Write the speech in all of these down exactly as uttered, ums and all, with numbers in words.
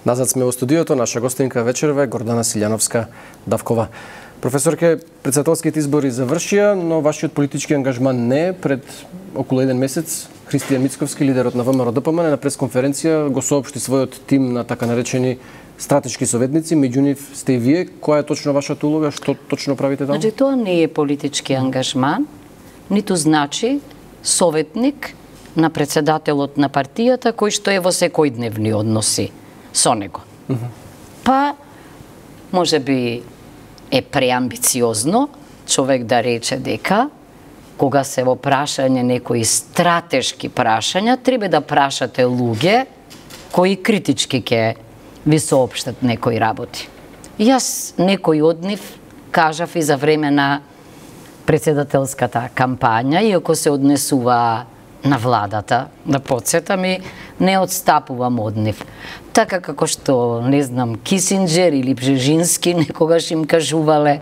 Назад сме во студиото, наша гостинка вечерва е Гордана Силјановска-Давкова. Професорке, председателските избори завршија, но вашиот политички ангажман не е. Пред околу еден месец Христијан Мицковски, лидерот на ВМРО-ДПМН, на пресконференција го соопшти својот тим на така наречени стратешки советници, меѓу нив сте и вие. Која е точно вашата улога? Што точно правите таму? Значи, тоа не е политички ангажман, ниту значи советник на председателот на партијата кој што е во секојдневни односи со него. Uh -huh. Па, може би е преамбициозно човек да рече дека кога се во прашање некои стратешки прашања, треба да прашате луѓе кои критички ќе ви соопштат некои работи. Јас некој од нив кажав и за време на председателската кампања, иако се однесува на владата, да подсетам, и не отстапувам од нив. Така како што, не знам, Кисинџер или Бжежински некогаш им кажувале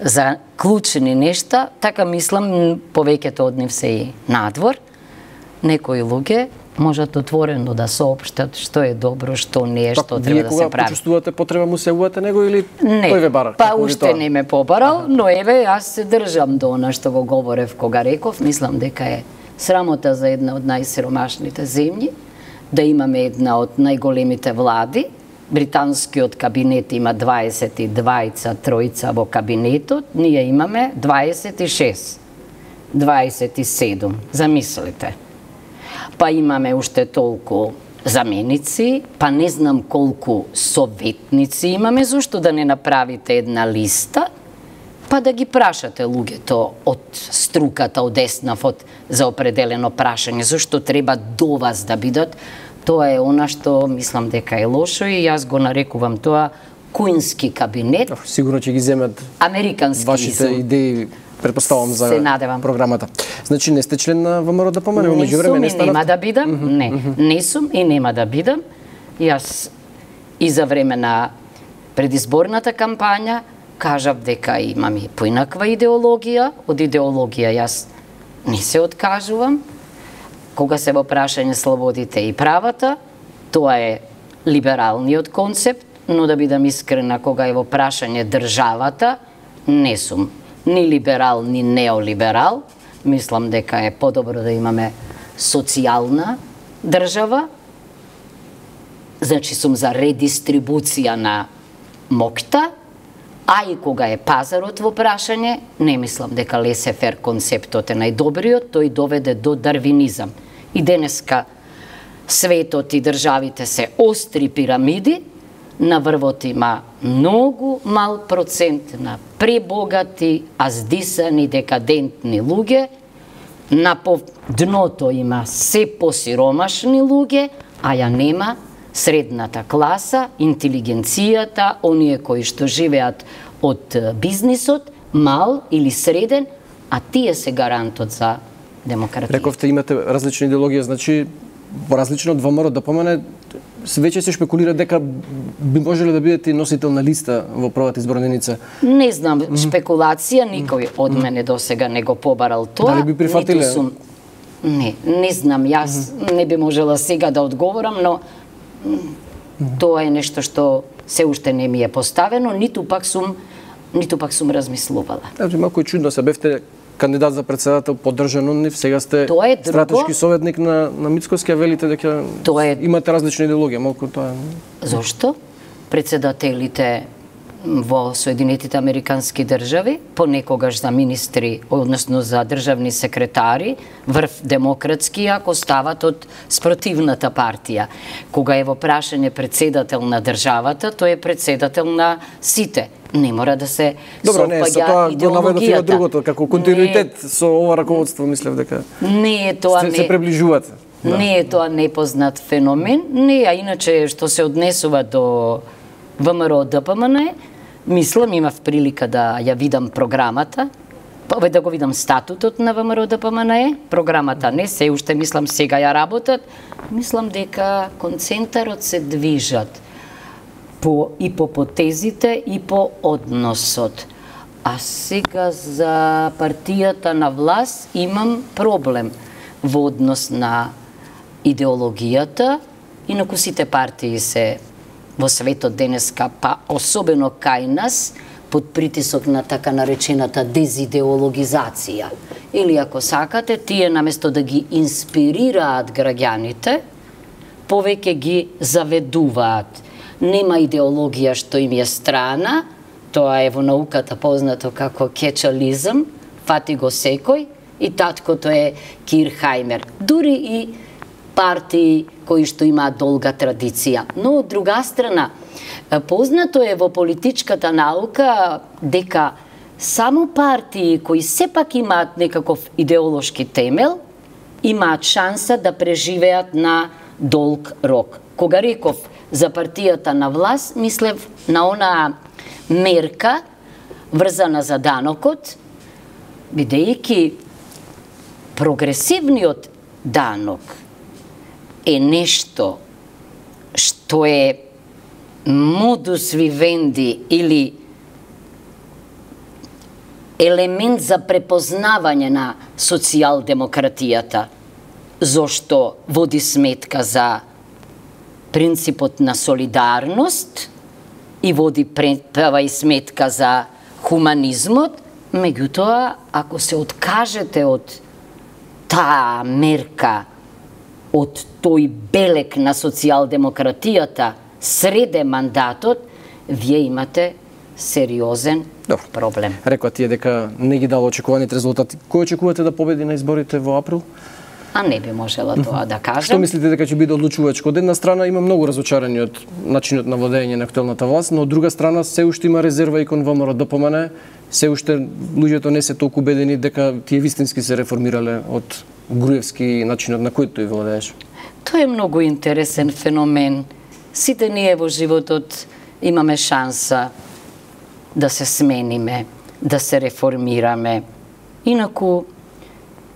за клучни нешта, така мислам повеќето од нив се и надвор. Некои луѓе можат отворено да соопштат што е добро, што не е, што треба да се прави. Вие кога почувствувате потреба му се јавувате него или не, тој ве бара? Па уште не ме побарал, но еве јас се држам до она што го говорев кога реков, мислам дека е срамота за една од најсиромашните земји, да имаме една од најголемите влади. Британскиот кабинет има дваесет и двајца тројца во кабинетот, ние имаме дваесет и шест, дваесет и седум, замислите. Па имаме уште толку заменици, па не знам колку советници имаме, зашто да не направите една листа, па да ги прашате луѓето од струката, од еснавот за определено прашање, зашто треба до вас да бидат. Тоа е она што мислам дека е лошо и јас го нарекувам тоа куински кабинет. Сигурно ќе ги земат американски вашите изум. идеи, предпоставам, за програмата. Значи не сте член на ВМРО-ДПМН, но меѓувреме не станав? Не сум и нема да бидам, mm -hmm. не, mm -hmm. не сум и нема да бидам. Јас и за време на предизборната кампања кажав дека имам и поинаква идеологија, од идеологија јас не се откажувам. Кога се во прашање слободите и правата, тоа е либералниот концепт, но да бидам искрена, кога е во прашање државата, не сум ни либерал, ни неолиберал. Мислам дека е подобро да имаме социјална држава. Значи сум за редистрибуција на моќта, а и кога е пазарот во прашање, не мислам дека лесе-фер концептот е најдобриот, тој доведе до дарвинизам. И денеска светот и државите се остри пирамиди, на врвот има многу мал процент на пребогати, аздисани, декадентни луѓе, на по дното има се посиромашни луѓе, а ја нема средната класа, интелигенцијата, оние кои што живеат од бизнисот, мал или среден, а тие се гарантот за демократија. Рековте имате различни идеологија, значи различно од ВМРО-ДПМН веќе се шпекулира дека би можеле да бидете носител на листа во првата изборна единица. Не знам, шпекулација, никој од мене досега не го побарал тоа. Дали би прифатиле? Сум... Не, не знам, јас не би можела сега да одговорам, но тоа е нешто што се уште не ми е поставено, ниту пак сум ниту пак сум размислувала. Значи малку чудно се бевте кандидат за председател, поддржан од нив, сега сте стратешки советник на на Мицковски, а велите дека е... имате различни идеологија, малку тоа. Зошто? Председателите во Соединетите Американски држави, понекогаш за министри, односно за државни секретари, врв демократски, ако стават од спротивната партија. Кога е во прашање председател на државата, тој е председател на сите. Не мора да се Добро, не, со тоа го наведов другото, како континуитет не, со ова раководство, мислев дека не е тоа се, не, се приближувате. Да. Не е тоа непознат феномен, не, а иначе што се однесува до ВМРО-ДПМН, мислам, имав прилика да ја видам програмата, па да го видам статутот на ВМРО-ДПМН, програмата не, се уште мислам сега ја работат, мислам дека концентарот се движат по, и по потезите и по односот. А сега за партијата на власт имам проблем во однос на идеологијата, инаку сите партии се во светот денеска, па особено кај нас, под притисок на така наречената дезидеологизација. Или ако сакате, тие наместо да ги инспирираат граѓаните, повеќе ги заведуваат. Нема идеологија што им е страна, тоа е во науката познато како кетчализм, фати го секој, и таткото е Кирхајмер. Дури и партии кои што имаат долга традиција. Но од друга страна, познато е во политичката наука дека само партии кои сепак имаат некаков идеолошки темел, имаат шанса да преживеат на долг рок. Кога реков за партијата на власт, мислев на она мерка врзана за данокот, бидејќи прогресивниот данок е нешто што е модус вивенди или елемент за препознавање на социјалдемократијата, зошто води сметка за принципот на солидарност и води права и сметка за хуманизмот, меѓутоа, ако се откажете од таа мерка, од тој белек на социјалдемократијата среде мандатот, вие имате сериозен Добро. проблем. Рекоа тие дека не ги дало очекуваните резултати. Кој очекувате да победи на изборите во април? А не би можела тоа да кажам. Што мислите дека ќе биде одлучувачко? Од една страна има многу разочарани од начинот на владење на актуелната власт, но од друга страна се уште има резерва и кон ВМРО ДПМН, да помане, се уште луѓето не се толку убедени дека тие вистински се реформирале од Груевски начинот на кој тој владееш. Тоа е многу интересен феномен. Сите ние во животот имаме шанса да се смениме, да се реформираме. Инаку,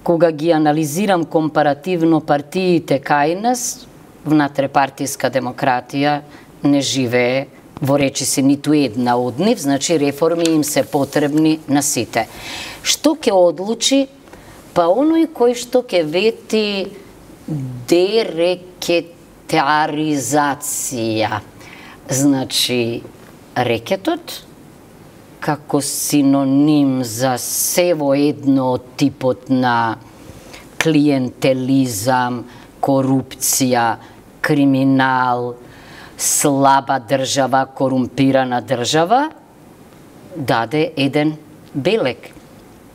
кога ги анализирам компаративно партиите кај нас, внатре-партиска демократија не живее во речиси ниту една од нив, значи реформи им се потребни на сите. Што ќе одлучи? Па оној кој што ќе вети дерекетаризација. Значи, рекетот како синоним за се во едно од типот на клиентелизам, корупција, криминал, слаба држава, корумпирана држава, даде еден белек.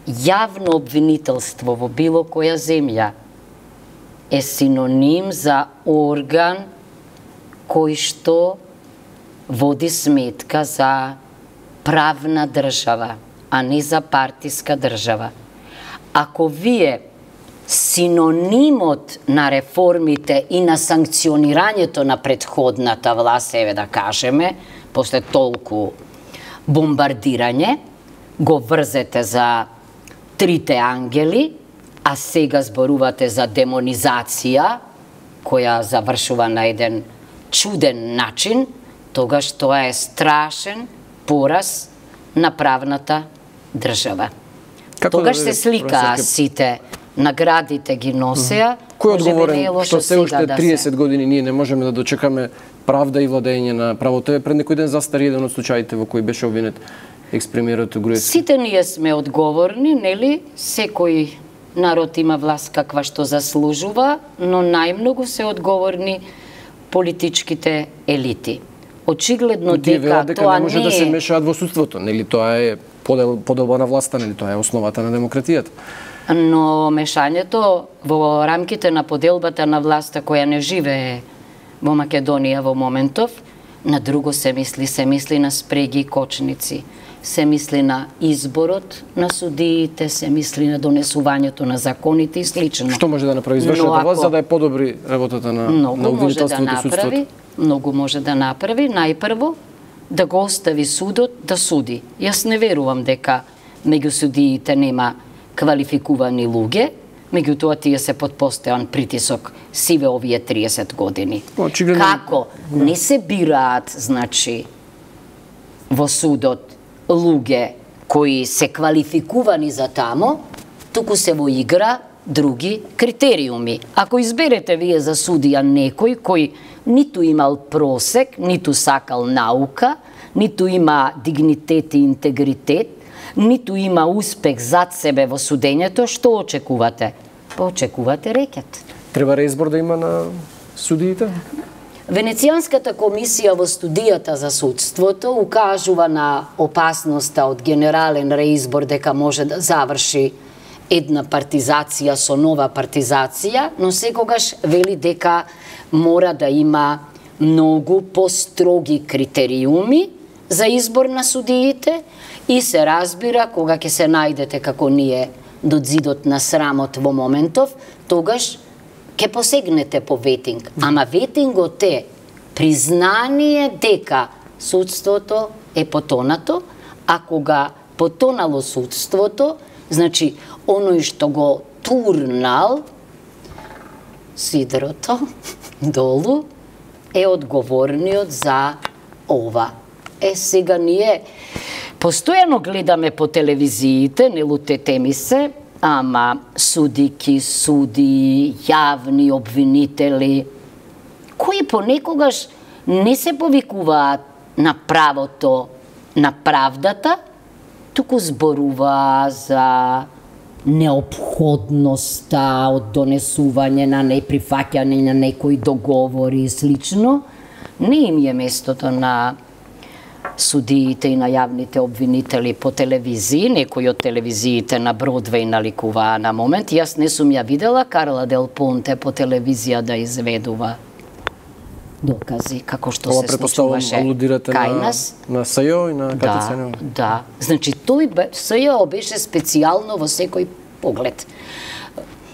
Јавно обвинителство во било која земја е синоним за орган кој што води сметка за правна држава, а не за партиска држава. Ако вие синонимот на реформите и на санкционирањето на претходната власт, еве да кажеме, после толку бомбардирање, го врзете за трите ангели, а сега зборувате за демонизација, која завршува на еден чуден начин, тогаш тоа е страшен пораз на правната држава. Како Тогаш да се сликаа сите, наградите ги носеа. Кој е одговорен што се уште триесет години ние не можеме да дочекаме правда и владење на правото? Е пред некој ден застари еден од случаите во кој беше обвинет екс-премиерот Груевски. Сите ние сме одговорни, нели? Секој народ има власт каква што заслужува, но најмногу се одговорни политичките елити. Очигледно дека, дека тоа не може не да се мешаат во судството, нели? Тоа е подел, поделба на власта, нели? Тоа е основата на демократијата. Но мешањето во рамките на поделбата на власта која не живее во Македонија во моментов, на друго се мисли, се мисли на спреги и кочници, се мисли на изборот на судиите, се мисли на донесувањето на законите и слично. Што може да направи извршната власт за да е подобри работата на, на обвинителството и судството? Многу може да направи. Најпрво, да го остави судот да суди. Јас не верувам дека меѓу судиите нема квалификувани луѓе, меѓутоа тие се под постојан притисок сиве овие триесет години. Очигледно... Како не се бираат, значи, во судот луѓе кои се квалификувани за тамо, туку се во игра други критериуми. Ако изберете вие за судија некој кој ниту имал просек, ниту сакал наука, ниту има дигнитет и интегритет, ниту има успех зад себе во судењето, што очекувате? Па очекувате рекет. Треба реизбор да има на судиите? Венецијанската комисија во студијата за судството укажува на опасноста од генерален реизбор дека може да заврши една партизација со нова партизација, но секогаш вели дека мора да има многу построги критериуми за избор на судиите и се разбира кога ќе се најдете како ние до зидот на срамот во моментов, тогаш ќе посегнете по ветинг. Ама ветингот е признание дека судството е потонато, а кога потонало судството, значи оној што го турнал сидрото долу е одговорниот за ова. Е, сега ние постојано гледаме по телевизиите, не лутете ми се, ама судики, суди, јавни обвинители, кои понекогаш не се повикуваат на правото, на правдата, туку зборува за неопходноста од донесување на неприфаќање на некои договори и слично. Не им е местото на судиите и на јавните обвинители по телевизии, некои од телевизиите на Бродвеј наликуваа на момент. Јас не сум ја видела Карла Дел Понте по телевизија да изведува докази како што Ова се случуваше кај на, нас. на СЈО и на КТЦ. Да, да. Значи тој бе, СЈО беше специјално во секој поглед.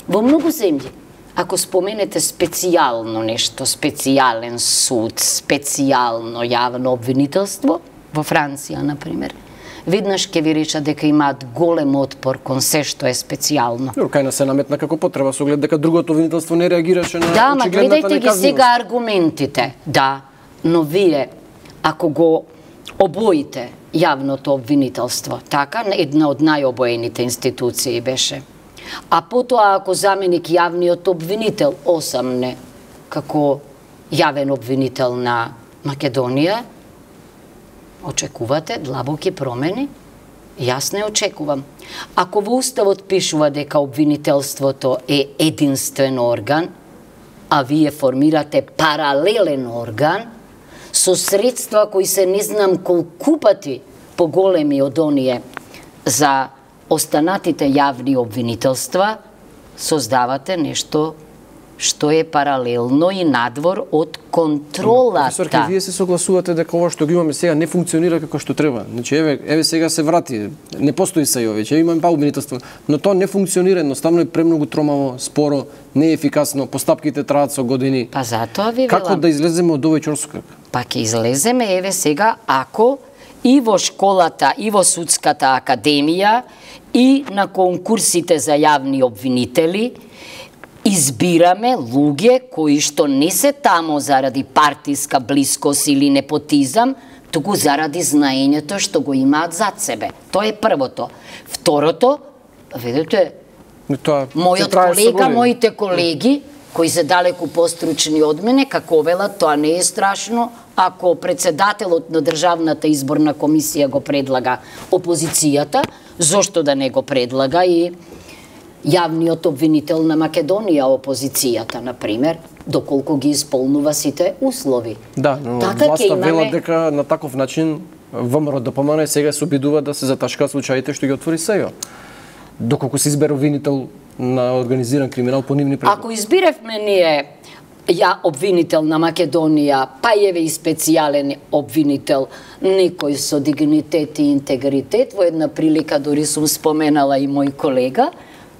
Во многу земји, ако споменете специјално нешто, специјален суд, специјално јавно обвинителство, во Франција, например, веднаш ќе ви речат дека имаат голем отпор кон се што е специјално. Кај нас се наметна како потреба со глед дека другото обвинителство не реагираше на да, ма очигледната гледајте ги неказнивост. сега аргументите. Да, но вие, ако го обоите јавното обвинителство, така, една од најобоените институции беше, а потоа ако заменик јавниот обвинител осамне како јавен обвинител на Македонија, очекувате длабоки промени? Јас не очекувам. Ако во Уставот пишува дека обвинителството е единствен орган, а вие формирате паралелен орган со средства кои се не знам колку пати поголеми од оние за останатите јавни обвинителства, создавате нешто што е паралелно и надвор од контролата. Професорке, вие се согласувате дека ова што го имаме сега не функционира како што треба. Значи еве еве сега се врати, не постои СЈО веќе, имаме па обвинителство, но тоа не функционира, едноставно е премногу тромаво, споро, неефикасно, постапките траат со години. Па затоа ви велам. Како да излеземе од овој ќорсокак? Па ќе излеземе еве сега ако и во школата, и во судската академија, и на конкурсите за јавни обвинители избираме луѓе кои што не се тамо заради партиска блискост или непотизам, туку заради знаењето што го имаат зад себе. Тоа е првото. Второто, видите, Тоа мојот колега, моите колеги, кои се далеку постручни од мене, како велат, тоа не е страшно, ако председателот на Државната изборна комисија го предлага опозицијата, зошто да не го предлага и јавниот обвинител на Македонија, опозицијата, например, доколку ги исполнува сите услови. Да, но така власта имаме... вела дека на таков начин ВМРО д П М Н сега се обидува да се заташкаат случаите што ги отвори СЈО. Доколку се избере обвинител на организиран криминал по нивни предлоги. Ако избиревме ние ја обвинител на Македонија, па еве и специјален обвинител, некој со дигнитет и интегритет, во една прилика дори сум споменала и мој колега,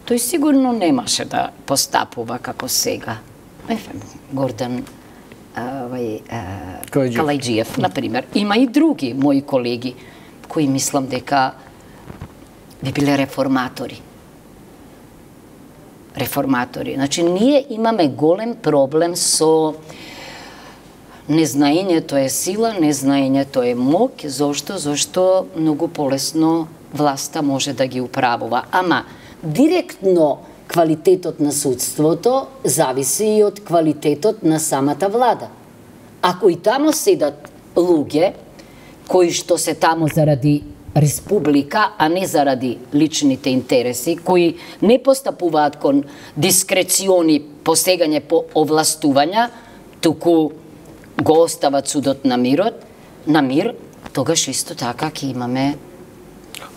тој сигурно немаше да постапува како сега. Ефе, Гордан овај Калајџиев, например. Има и други мои колеги кои мислам дека би биле реформатори. Реформатори. Значи, ние имаме голем проблем со незнаењето е сила, незнаењето е моќ. Зошто? Зошто многу полесно власта може да ги управува. Ама, директно квалитетот на судството зависи и од квалитетот на самата влада. Ако и тамо седат луѓе кои што се тамо заради республика, а не заради личните интереси, кои не постапуваат кон дискрециони посегање по овластувања, туку го остават судот на мирот, на мир, тогаш исто така ќе имаме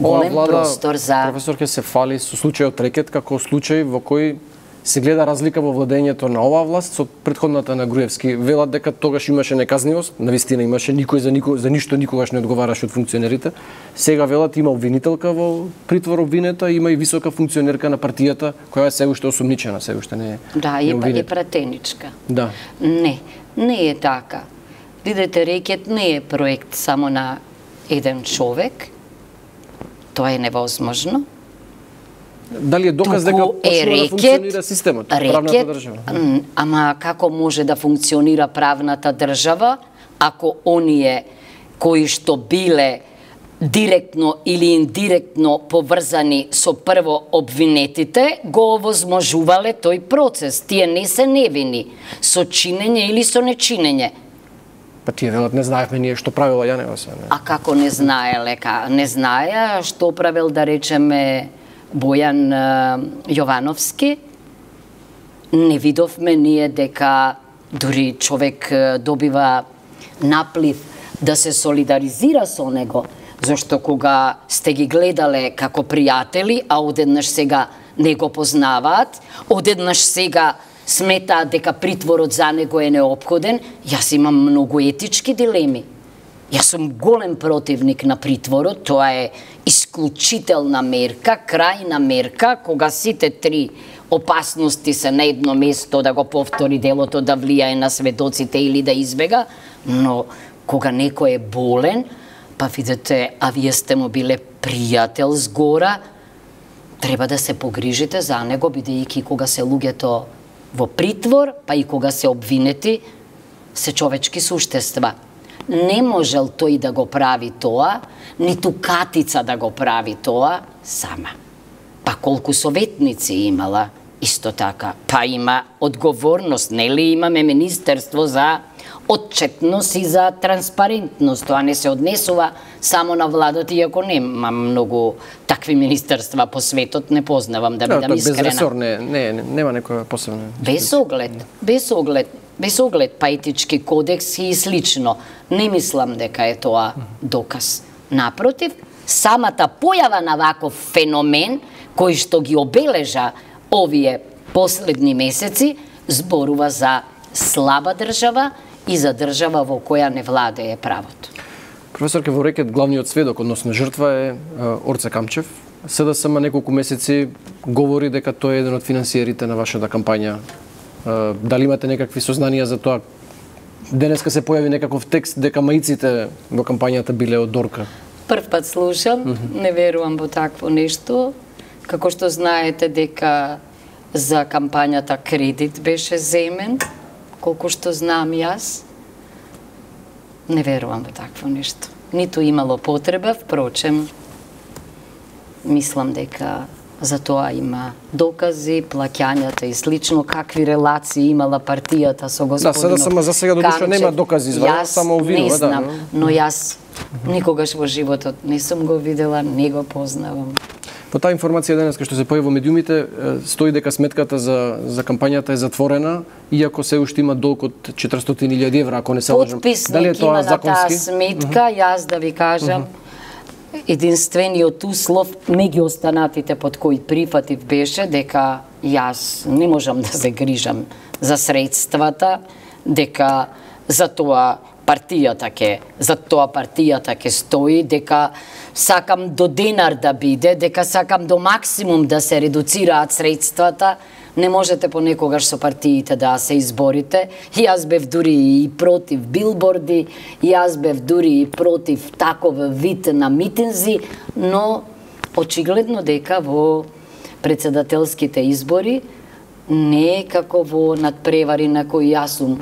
голем влада, простор за... Професор, ке се фали со случајот Рекет како случај во кој се гледа разлика во владењето на оваа власт со претходната на Груевски. Велат дека тогаш имаше неказнивост, навистина имаше, никој за, никој, за ништо никогаш не одговараше од функционерите. Сега велат има обвинителка во притвор обвинета, има и висока функционерка на партијата, која е се уште осумничена, се уште не е. Да, не е, е пратеничка. Да. Не, не е така. Видете, Рекет не е проект само на еден човек. Тоа е невозможно. Дали е доказ дека почнува да функционира системот, правната држава? Ама како може да функционира правната држава ако оние кои што биле директно или индиректно поврзани со прво обвинетите го овозможувале тој процес? Тие не се невини со чинење или со нечинење. Па тие велат не знаевме ние што правила Јанева се. А како не знаеле? Не знаеа што правил, да речеме, Бојан Јовановски? Не видовме ние дека дури човек добива наплив да се солидаризира со него, зашто кога сте ги гледале како пријатели, а одеднаш сега не го познаваат, одеднаш сега сметаат дека притворот за него е неопходен, јас имам многу етички дилеми. Јас сум голем противник на притворот, тоа е исклучителна мерка, крајна мерка, кога сите три опасности се на едно место, да го повтори делото, да влијае на сведоците или да избега, но кога некој е болен, па видите, а вие сте му биле пријател згора, треба да се погрижите за него, бидејќи кога се луѓето во притвор, па и кога се обвинети, се човечки суштества. Не можел тој да го прави тоа, ниту Катица да го прави тоа сама. Па колку советници имала, исто така. Па има одговорност, нели имаме Министерство за отчетност и за транспарентност. Тоа не се однесува само на владата, иако нема многу такви министерства по светот, не познавам, да бидам искрена. Без ресор, не, не, нема некоја посебна. Без оглед, без оглед, без оглед па етички кодекс и слично. Не мислам дека е тоа доказ. Напротив, самата појава на ваков феномен, кој што ги обележа овие последни месеци, зборува за слаба држава и за држава во која не владее правото. Професорке, во Рекет главниот сведок, односно жртва е Орце Камчев. СДСМ неколку месеци говори дека тој е еден од финансиерите на вашата кампања. Дали имате некакви сознанија за тоа? Денеска се појави некаков текст дека маиците во кампањата биле од Дорка. Прв пат слушам, mm -hmm. не верувам во такво нешто. Како што знаете дека за кампањата кредит беше земен, колку што знам јас, не верувам во такво нешто. Ниту имало потреба, впрочем, мислам дека за тоа има докази, плаќањата и слично, какви релации имала партијата со господинот. Да, сега за сега до душа нема докази извадено, само обвинува, не знам, да. но јас никогаш во животот не сум го видела, не го познавам. По таа информација денес што се појави во медиумите, стои дека сметката за за кампањата е затворена, иако се уште има долг од четиристотини илјади евра, ако не се лажам. Дали е тоа законски? Има на таа сметка, uh -huh. јас да ви кажам, uh -huh. единствениот услов меѓу останатите под кои прифатив беше дека јас не можам да се грижам за средствата, дека за тоа партијата ке, за тоа партијата ке стои, дека сакам до денар да биде, дека сакам до максимум да се редуцираат средствата. Не можете понекогаш со партиите да се изборите. Јас бев дури и против билборди, јас бев дури и против таков вид на митинзи, но очигледно дека во председателските избори не е како во надпревари на кои јас сум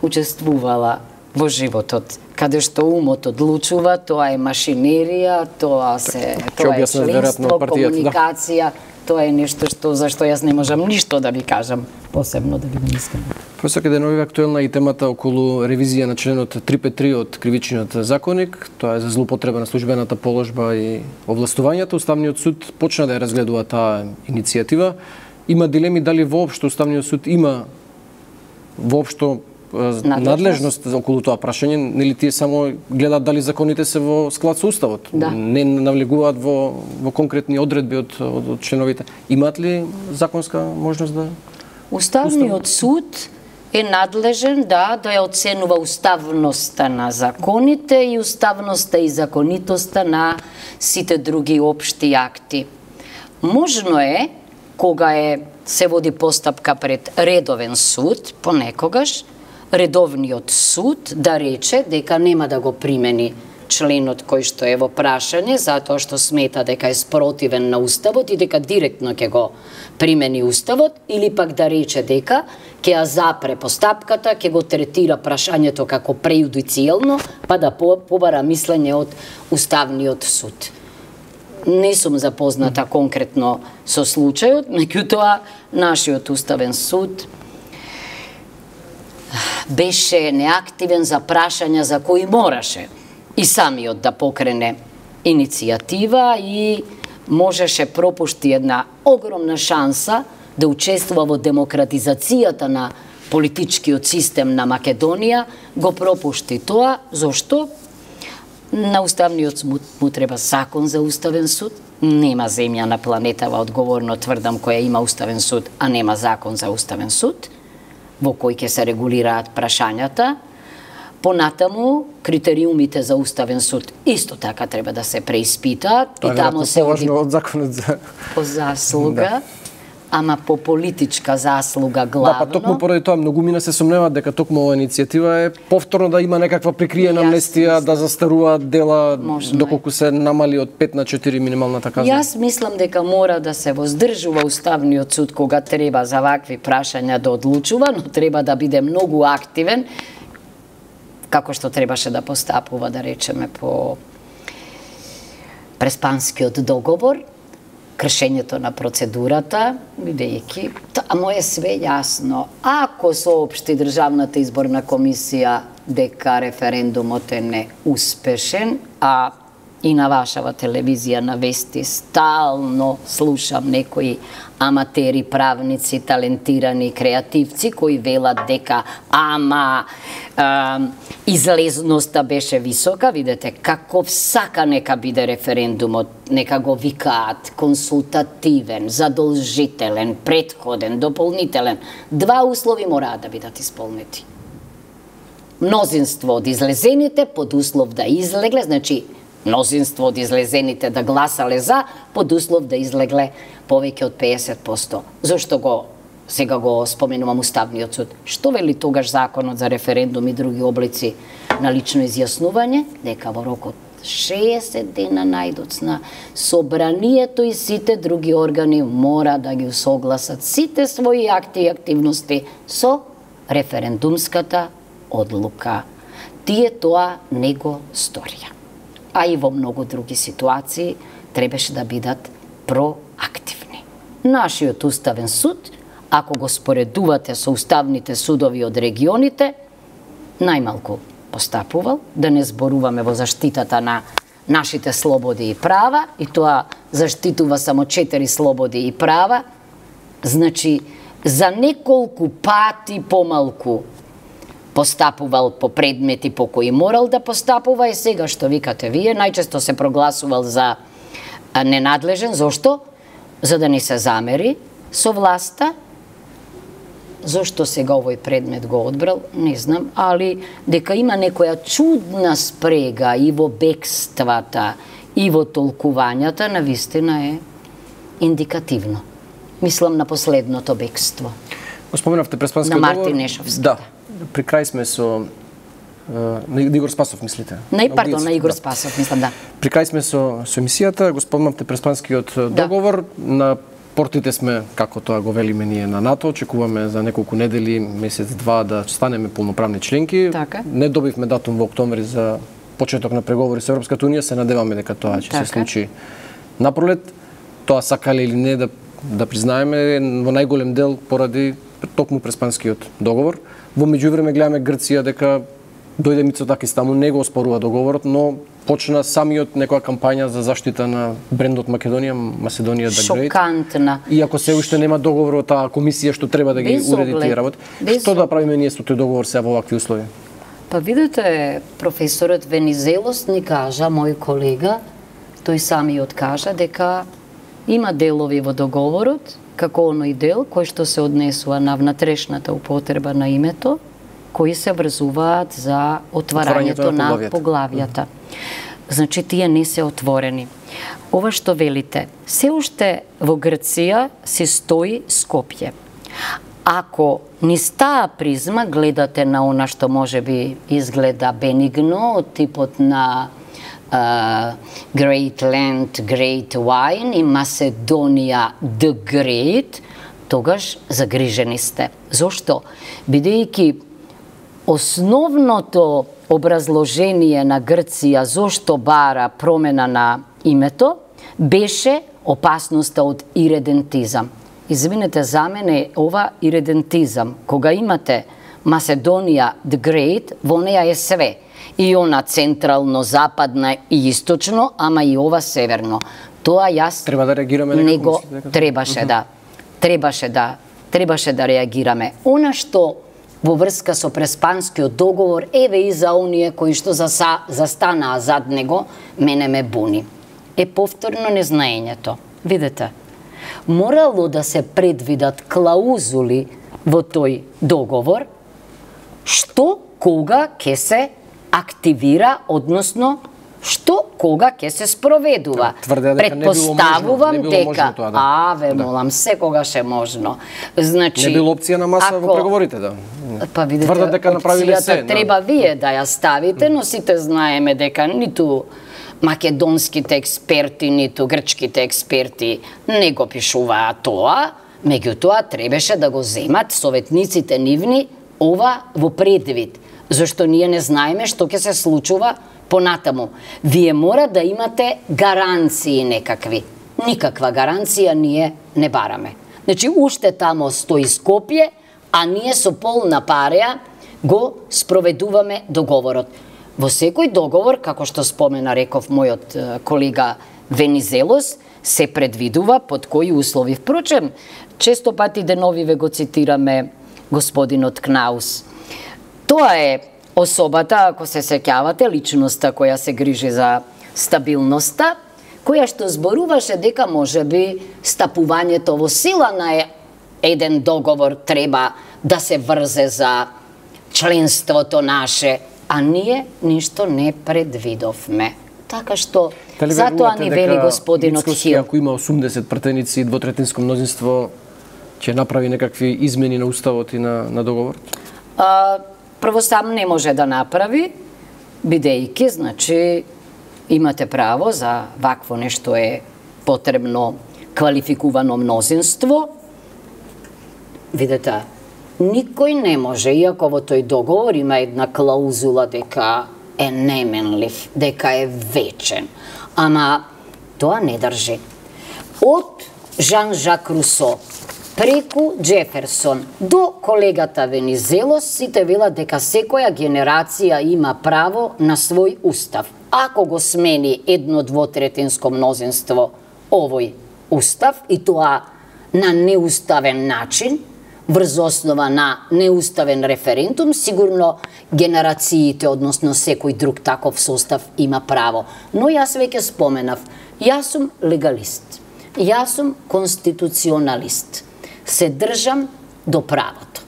учествувала во животот, каде што умот одлучува, тоа е машинерија, тоа се тоа е членство, комуникација, Тоа е нешто што за што јас не можам ништо да ви кажам посебно, да бидам искрена. Професор Кајденови, актуелна и темата околу ревизија на членот триста петдесет и три од Кривичниот законник. Тоа е за злоупотреба на службената положба и овластувањата. Уставниот суд почна да ја разгледува таа иницијатива. Има дилеми дали воопшто Уставниот суд има воопшто надлежност околу тоа прашање, нели тие само гледаат дали законите се во склад со уставот, да. Не навлегуваат во во конкретни одредби од, од, од членовите. Имаат ли законска можност да Уставниот суд е надлежен да да ја оценува уставноста на законите и уставноста и законитоста на сите други општи акти. Можно е кога е се води постапка пред редовен суд, понекогаш редовниот суд да рече дека нема да го примени членот кој што е во прашање, затоа што смета дека е спротивен на уставот и дека директно ќе го примени уставот, или пак да рече дека ќе ја запре постапката, ќе го третира прашањето како прејудицијално, па да побара мислење од Уставниот суд. Не сум запозната конкретно со случајот, меѓутоа нашиот Уставен суд беше неактивен за прашања за кои мораше и самиот да покрене иницијатива и можеше пропушти една огромна шанса да учествува во демократизацијата на политичкиот систем на Македонија, го пропушти тоа. Зошто? На Уставниот суд му треба закон за Уставен суд. Нема земја на планетава, одговорно тврдам, која има Уставен суд, а нема закон за Уставен суд, во кој ќе се регулираат прашањата. Понатаму, критериумите за Уставен суд исто така треба да се преиспитаат. Тоа и таму се оди од законот за по заслуга, да. Ама по политичка заслуга главно. Да, па токму поради тоа многумина се сомневаат дека токму оваа иницијатива е повторно да има некаква прикриена амнестија, да застаруваат дела, Можно доколку се намали од пет на четири минималната казна. Јас мислам дека мора да се воздржува Уставниот суд кога треба за вакви прашања да одлучува, но треба да биде многу активен, како што требаше да постапува, да речеме, по Преспанскиот договор, кршењето на процедурата, бидејќи таму е све јасно. Ако соопшти Државната изборна комисија дека референдумот е неуспешен, а и на вашава телевизија на вести стално слушам некои аматери, правници, талентирани креативци кои велат дека ама а, излезноста беше висока. Видете каков сака нека биде референдумот, нека го викаат консултативен, задолжителен, претходен, дополнителен. Два услови мораат да бидат исполнети. Мнозинство од излезените под услов да излегле, значи мнозинство од излезените да гласале за, под услов да излегле повеќе од песет проценти. Зошто го сега го споменувам Уставниот суд? Што вели тогаш законот за референдум и други облици на лично изјаснување? Дека во рок од шеесет дена најдоцна собранието и сите други органи мора да ги согласат сите своји акти и активности со референдумската одлука. Тие тоа не го сторија. А и во многу други ситуации требаше да бидат проактивни. Нашиот Уставен суд, ако го споредувате со уставните судови од регионите, најмалку постапувал, да не зборуваме во заштитата на нашите слободи и права, и тоа заштитува само четири слободи и права, значи за неколку пати помалку постапувал по предмети по кои морал да постапува, и сега што викате вие, најчесто се прогласувал за ненадлежен. Зошто? За да не се замери со власта. Зошто сега овој предмет го одбрал, не знам, али дека има некоја чудна спрега и во бегствата, и во толкувањата, навистина е индикативно. Мислам на последното бегство. Го споменавте Преспанскиот договор. На Мартин Нешовски. Да. При крај сме со на Игор Спасов, мислите? Не, пардон, на Игор Спасов, мислам, да. При крај сме со, со емисијата, го спомнавте Преспанскиот договор, да. На портите сме, како тоа го велиме ние на НАТО, очекуваме за неколку недели, месец-два да станеме полноправни членки. Така. Не добивме датум во октомври за почеток на преговори со Европската унија, се надеваме дека тоа ќе се случи напролет. Тоа сакале или не да да признаеме, во најголем дел поради токму Преспанскиот договор. Во меѓувреме гледаме Грција дека дојде Мицотакис таму, не го оспорува договорот, но почна самиот некоја кампања за заштита на брендот Македонија, Macedonija the Great. Шокантна. Иако се уште нема договор од таа комисија што треба да ги уреди тие работи. Што да правиме ние со тој договор сега во вакви услови? Па видите, професорот Венизелос ни кажа, мој колега, тој самиот кажа дека има делови во договорот, како оној дел кој што се однесува на внатрешната употреба на името, кои се врзуваат за отварањето на поглавјата. поглавјата. Значи, тие не се отворени. Ова што велите, се уште во Грција се стои Скопје. Ако низ таа призма гледате на она што може би изгледа бенигно, од типот на uh, Great Land, Great Wine и Macedonija the Great, тогаш загрижени сте. Зошто? Бидејќи основното образложение на Грција зошто бара промена на името беше опасноста од иредентизам. Извинете, за мене ова иредентизам, кога имате Macedonija the Great, во неја е све. И она централно, западна и источно, ама и ова северно. Тоа јас треба да реагираме него требаше да требаше да требаше да реагираме. Она што во врска со Преспанскиот договор, еве и за оние кои што заса, застанаа зад него, мене ме буни. Е повторно незнаењето. Видете, морало да се предвидат клаузули во тој договор, што кога ќе се активира, односно што кога ќе се спроведува. Предпоставувам дека, аве, молам, секогаш е можно. Значи, не било опција на маса во преговорите, да. Па видите, опцијата треба вие да ја ставите, но сите знаеме дека ниту македонските експерти, ниту грчките експерти не го пишуваа тоа, меѓутоа требаше да го земат советниците нивни ова во предвид, зашто ние не знаеме што ќе се случува понатаму. Вие мора да имате гаранции некакви. Никаква гаранција ние не бараме. Значи, уште тамо стои Скопје, а ние со полна пареа го спроведуваме договорот. Во секој договор, како што спомена, реков мојот колега Венизелос, се предвидува под кои услови. Впрочем, често пати деновиве го цитираме господинот Кнаус. Тоа е особата, ако се сеќавате, личноста која се грижи за стабилноста, која што зборуваше дека можеби стапувањето во сила на еден договор треба да се врзе за членството наше, а ние ништо не предвидовме. Така што, затоа ни вели господинот Хил. Ако има осумдесет пратеници и двотретинско мнозинство, ќе направи некакви измени на уставот и на, на договорот? А, прво сам не може да направи, бидејќи, значи, имате право за вакво нешто е потребно квалификувано мнозинство. Видете, никој не може, иако во тој договор има една клаузула дека е неменлив, дека е вечен. Ама тоа не држи. Од Жан-Жак Русо преку Джеферсон до колегата Венизелос сите велат дека секоја генерација има право на свој устав. Ако го смени едно двотретинско мнозинство овој устав и тоа на неуставен начин, врз основа на неуставен референдум, сигурно генерациите, односно секој друг таков состав има право. Но јас веќе споменав, јас сум легалист, јас сум конституционалист. Се држам до правото.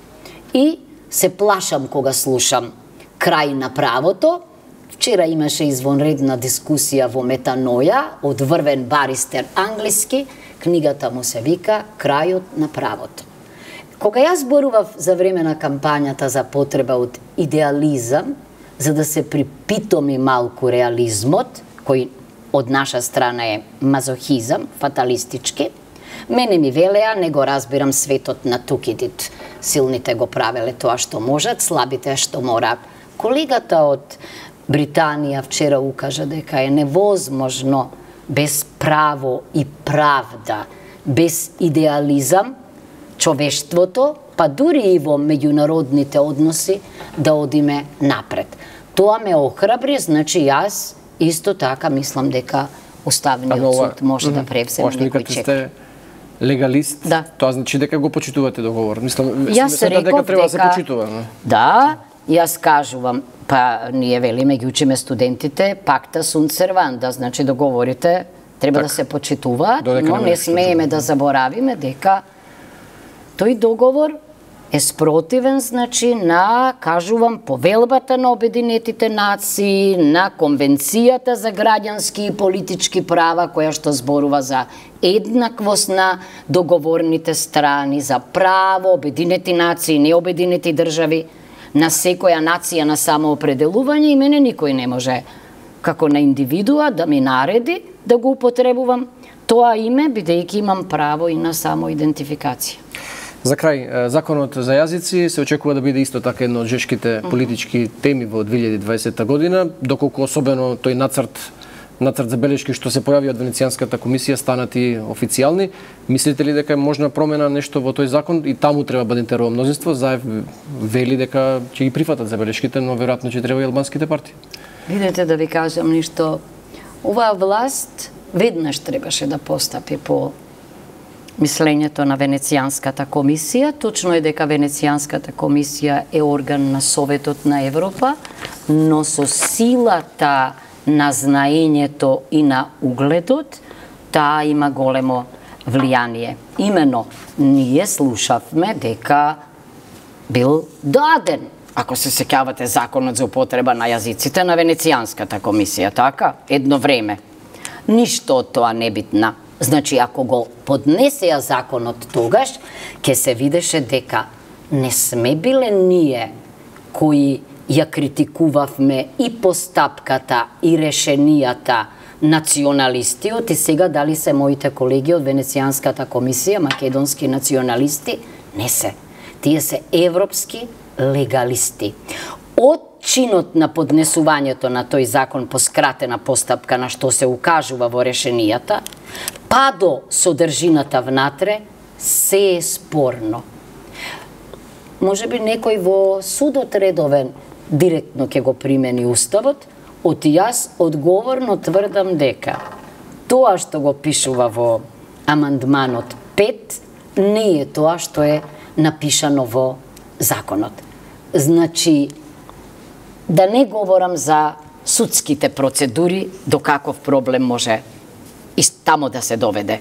И се плашам кога слушам крај на правото. Вчера имаше извонредна дискусија во Метаноја од врвен баристер англиски, книгата му се вика Крајот на правото. Кога јас зборував за време на кампањата за потреба од идеализам, за да се припитоми малку реализмот, кој од наша страна е мазохизам, фаталистички, мене ми велеа, не го разбирам светот на Тукидид. Силните го правеле тоа што можат, слабите што мораат. Колегата од Британија вчера укажа дека е невозможно без право и правда без идеализам, човештвото, па дури и во меѓународните односи, да одиме напред. Тоа ме охрабри, значи јас исто така мислам дека Уставниот суд може да превземе некој чек. Сте легалист, да. Тоа значи дека го почитувате договор. Мислам, јас реков дека треба да се дека... почитува. Не? Да, јас кажувам, па ние велиме, ги учиме студентите, пакта sunt servanda, значи договорите треба так, да се почитуваат, но не смееме да заборавиме дека тој договор е спротивен, значи, на, кажувам, повелбата на Обединетите нации, на Конвенцијата за граѓански и политички права, која што зборува за еднаквост на договорните страни, за право, Обединети нации, необединети држави, на секоја нација на самоопределување, и мене никој не може, како на индивидуа, да ми нареди да го употребувам тоа име, бидејќи имам право и на самоидентификација. За крај, законот за јазици се очекува да биде исто така едно од жешките политички теми во две илјади и дваесета година, доколку особено тој нацрт, нацрт забелешки што се појави од Венецијанската комисија станат и официјални. Мислите ли дека е можна промена нешто во тој закон и таму треба да биде интерово мнозинство? Заев вели дека ќе ги прифатат забелешките, но веројатно ќе треба и албанските партии. Видете, да ви кажам нешто, оваа власт веднаш требаше да постапи по мислењето на Венецијанската комисија. Точно е дека Венецијанската комисија е орган на Советот на Европа, но со силата на знаењето и на угледот, таа има големо влијание. Имено, ние слушавме дека бил даден, ако се сеќавате, законот за употреба на јазиците на Венецијанската комисија, така? Едно време. Ништо од тоа небитна. Значи, ако го поднесеа законот тогаш, ќе се видеше дека не сме биле ние кои ја критикувавме и постапката и решенијата националистиот, и сега дали се моите колеги од Венецијанската комисија, македонски националисти, не се. Тие се европски легалисти. Од чинот на поднесувањето на тој закон по скратена постапка, на што се укажува во решенијата, па до содржината внатре, се е спорно. Може би некој во судот редовен директно ќе го примени Уставот, од јас одговорно тврдам дека тоа што го пишува во амандманот пет не е тоа што е напишано во законот. Значи, да не говорам за судските процедури, до каков проблем може и тамо да се доведе.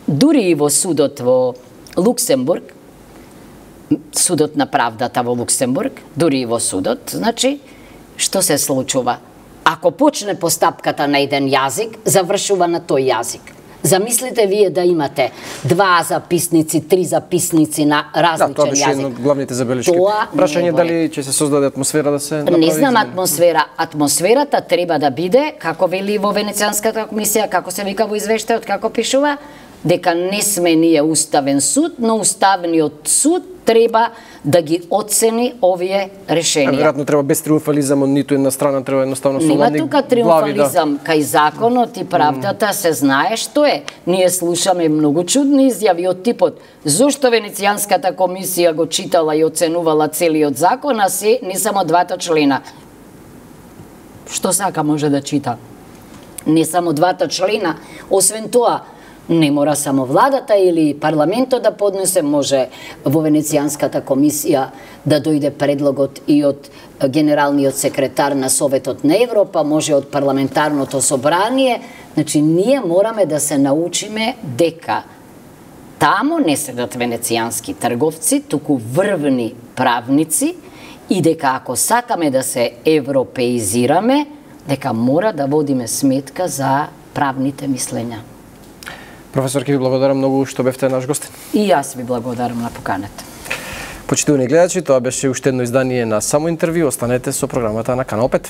Дури и во судот во Луксембург, судот на правдата во Луксембург, дури и во судот, значи, што се случува? Ако почне постапката на еден јазик, завршува на тој јазик. Замислите вие да имате два записници, три записници на различен јазик. Да, тоа беше едно од главните забелешки. Прашање дали ќе се создаде атмосфера да се направи? Не знам атмосфера. Атмосферата треба да биде, како вели во Венецијанската комисија, како се вика во извештајот, како пишува, дека не сме ние уставен суд, но уставниот суд треба да ги оцени овие решенија. Веројатно треба без триумфализам од ниту една страна, треба едноставно со ладни глави. Нема тука триумфализам, да. Кај законот и правдата се знае што е. Ние слушаме многу чудни изјави од типот зошто Венецијанската комисија го читала и оценувала целиот закон, а се не само двата члена. Што сака може да чита? Не само двата члена, освен тоа, не мора само владата или парламентот да поднесе, може во Венецијанската комисија да дојде предлогот и од генералниот секретар на Советот на Европа, може од парламентарното собрание. Значи, ние мораме да се научиме дека тамо не седат венецијански трговци, туку врвни правници, и дека ако сакаме да се европеизираме, дека мора да водиме сметка за правните мислења. Професор, ке ви благодарам многу што бевте наш гостин. И јас ви благодарам на поканата. Почитувани гледачи, тоа беше уште едно издание на Само интервју. Останете со програмата на Канал пет.